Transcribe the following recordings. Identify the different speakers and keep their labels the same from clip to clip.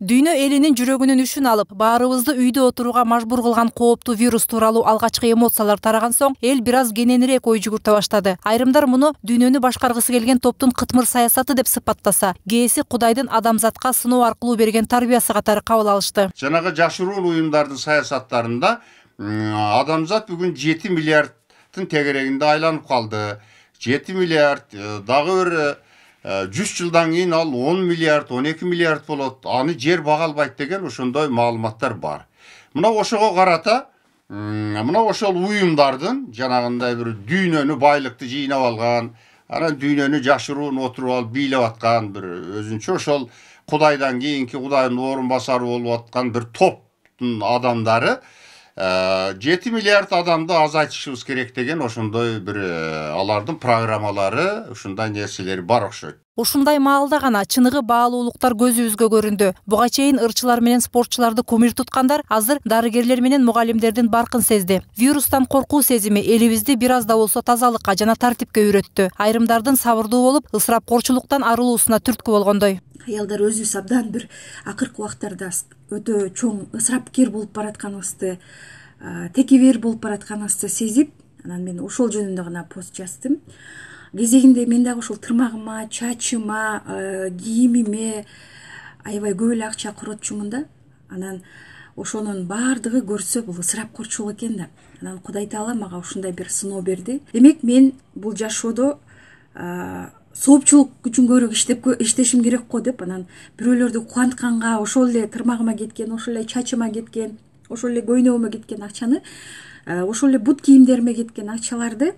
Speaker 1: Дүйнө элинин жүрөгүнүн үшүн алып, баарыбызды үйдө отурууга мажбур кылган кооптуу вирус тууралуу алгачкы эмоциялар тараган соң, эл бир аз кененирээк ой жүгүртө баштады. Айрымдар муну дүйнөнү башкаргысы келген топтун кытмыр саясаты деп сыпаттаса, кээси Кудайдын адамзатка сыноо аркылуу берген тарбиясы катары кабыл алышты.
Speaker 2: Жанагы жашыруун уюмдардын саясаттарында адамзат бүгүн 7 миллиардтын тегерегинде айланып калды. 7 миллиард дагы бир 100 жылдан кийин ал 10 миллиард, 12 миллиард болот. Аны жер бага албайт деген ошондой маалыматтар бар. Мына ошого карата, мына ошол уюмдардын жанагындай бир дүйнөнү байлыкты жыйнап алган, анан дүйнөнү жашыруун отуруп алып бийлеп аткан бир өзүнчө ошол Кудайдан кийинки Кудайдын орун басары болуп аткан бир топтун адамдары 7 миллиард адамды азайтышыбыз керек деген ошондой бир алардын программалары, ушундай нерселери бар окшойт.
Speaker 1: Ушундай маалда гана чыныгы баалуулуктар көзүбүзгө көрүндү. Буга чейин ырчылар менен спортчуларды кумир туткандар азыр дарыгерлер менен мугалимдердин баркын сезди. Вирустан коркуу сезими элибизди бир аз да болсо тазалыкка жана тартипке үйрөттү. Айрымдардын сабырдуу болуп, ысырапкорчулуктан арылуусуна түрткү болгондой.
Speaker 3: Аялдар өзүбүз абдан бир акыркы убактарда өтө чоң ысырапкер болуп баратканыбызды, текебер болуп баратканыбызды сезип, анан мен ошол жөнүндө гана пост жаздым. Кезегинде мен дагы ошол тырмагыма, чачыма, кийимиме аябай көп эле акча коротчумун да. Анан ошонун баардыгы көрсө бул ысырапкорчулук экен да. Анан Кудай Таала мага ушундай бир сыноо берди. Демек мен бул жашоодо соопчулук үчүн көбүрөөк иштешим керек го деп, анан бирөөлөрдү кубантканга ошол эле тырмагыма кеткен, ошол эле чачыма кеткен, ошол эле көйнөгүмө кеткен акчаны, ошол эле бут кийимдериме кеткен акчаларды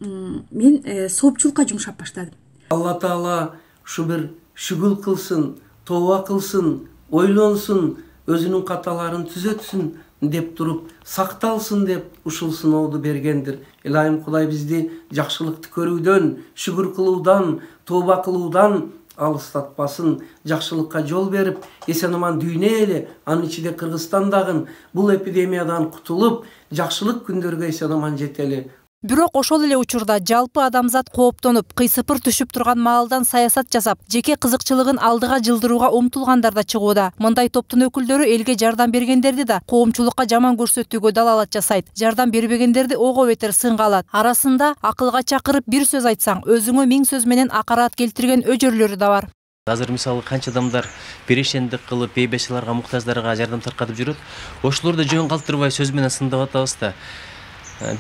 Speaker 3: мен соопчулукка жумшап баштадым.
Speaker 4: Алла Таала ушу бир шүгүл кылсын, тооба кылсын, ойлонсун, өзүнүн каталарын түзөтсүн деп туруп, сакталсын деп ушул сынооду бергендир. Илайым Кудай бизди жакшылыкты көрүүдөн, шүгүр кылуудан, тооба кылуудан алыстатпасын, жакшылыкка жол берип, эсен-аман дүйнө эли, анын ичинде Кыргызстан дагы бул эпидемиядан кутулуп, жакшылык күндөргө эсен-аман жетели.
Speaker 1: Бирок ошол эле учурда жалпы адамзат кооптонуп, кыйсыпыр түшүп турган маалдан саясат жасап, жеке кызыкчылыгын алдыга жылдырууга умтулгандар да чыгууда. Мындай топтун өкүлдөрү элге жардам бергендерди да коомчулукка жаман көрсөтүүгө далалат жасайт. Жардам бербегендерди ого бетер сынга алат. Арасында акылга чакырып бир сөз айтсаң, өзүңө 1000 сөз менен акарат келтирген өжөрлөрү да бар.
Speaker 5: Азыр мисалы канча адамдар перешендик кылып, бейбечиларга, муктаждарга жардам таркатып жүрөт. Ошолорду жөн калтырбай сөз менен сындап атабыз да.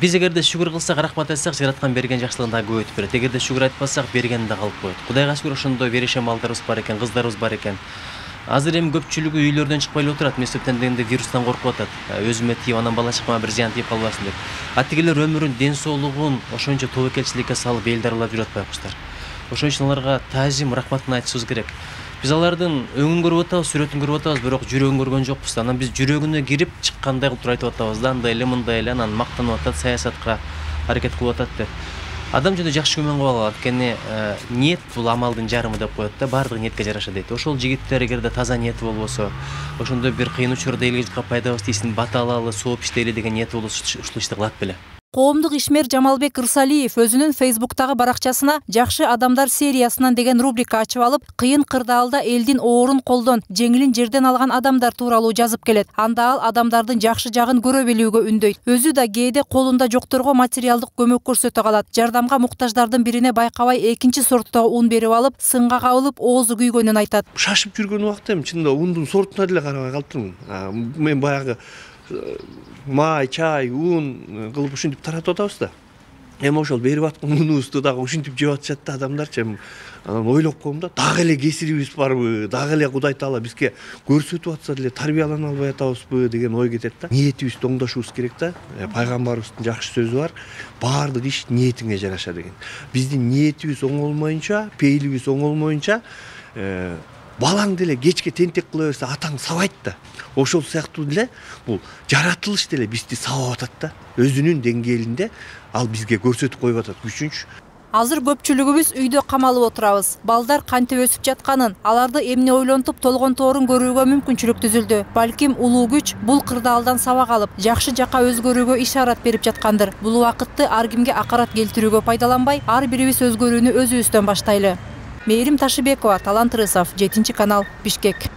Speaker 5: Биз эгерде шүгүр кылсак, рахмат айтсак, жараткан берген жакшылыгын да көбөйтүп берет. Эгерде шүгүр айтпасак, бергени да калып коет. Кудайга шүгүр ошондой берешен балдарыбыз бар экен, кыздарыбыз бар экен. Азыр эми көпчүлүгү үйлөрдөн чыкпай эле отурат. Мектептен дегенде вирустан коркуп атат. Өзүмө тийип, анан бала чакама бир зыян тийип калбасын деп. Тигилер өмүрүн, ден соолугун ошончо тобокелчиликке салып эл дарылап жүрөт байкуштар. Ошон үчүн аларга таазим, рахматын айтышыбыз керек. Биз алардын өңүн көрүп атабыз, сүрөтүн көрүп атабыз, бирок жүрөгүн көргөн жокпуз. Анан биз жүрөгүнө кирип чыккандай кылып туруп айтып атабыз да, андай эле, мындай эле, анан мактанып атат, саясатка аракет кылып атат деп. Адам жөнүндө жакшы күмөн кылып алат. Анткени ниет бул амалдын жарымы деп коет да, баардыгы ниетке жараша дейт. Ошол жигиттер эгерде таза ниети болбосо, ошондой бир кыйын учурда элге жутка пайдабыз тийсин, бата алалы, сооп иштейли деген ниети болсо ушул ишти кылат беле.
Speaker 1: Коомдук ишмер Жамалбек Ырсалиев өзүнүн Фейсбуктагы баракчасына «Жакшы адамдар» сериясынан деген рубрика ачып алып, кыйын кырдаалда элдин оорун колдон, жеңилин жерден алган адамдар тууралуу жазып келет. Анда ал адамдардын жакшы жагын көрө билүүгө үндөйт. Өзү да кээде колунда жокторго материалдык көмөк көрсөтө калат. Жардамга муктаждардын бирине байкабай экинчи сорттогу ун берип алып, сынга кабылып, оозу күйгөнүн айтат.
Speaker 6: Шашып жүргөн убакта эми чынында ундун сортуна деле карабай калыптырмын. Мен баягы май, чай, ун кылып ушинтип таратып атабыз да. Эми ошол берип аткан унубузду дагы ушинтип жеп атышат да адамдарчы. Анан ойлоп коем да, дагы эле кесирибиз барбы, дагы эле Кудай Таала бизге көрсөтүп атса деле тарбиялана албай атабызбы деген ой кетет да. Ниетибизди оңдошубуз керек да. Пайгамбарыбыздын жакшы сөзү бар. Баардык иш ниетиңе жараша деген. Биздин ниетибиз оңолмоюнча, пейилибиз оңолмоюнча, балаң деле кечке тентек кыла берсе атаң сабайт да. Ошол сыяктуу деле бул жаратылыш деле бизди сабап атат да. Өзүнүн деңгээлинде ал бизге көрсөтүп коюп атат күчүнчү.
Speaker 1: Азыр көпчүлүгүбүз үйдө камалып отурабыз. Балдар кантип өсүп жатканын, аларды эмне ойлонтуп толгонторун көрүүгө мүмкүнчүлүк түзүлдү. Балким улуу күч бул кырдаалдан сабак алып, жакшы жака өзгөрүүгө ишарат берип жаткандыр. Бул убакытты ар кимге акарат келтирүүгө пайдаланбай, ар бирибиз өзгөрүүнү өзүбүздөн баштайлы. Мээрим Ташыбекова, Талант Рысов, 7 канал, Бишкек.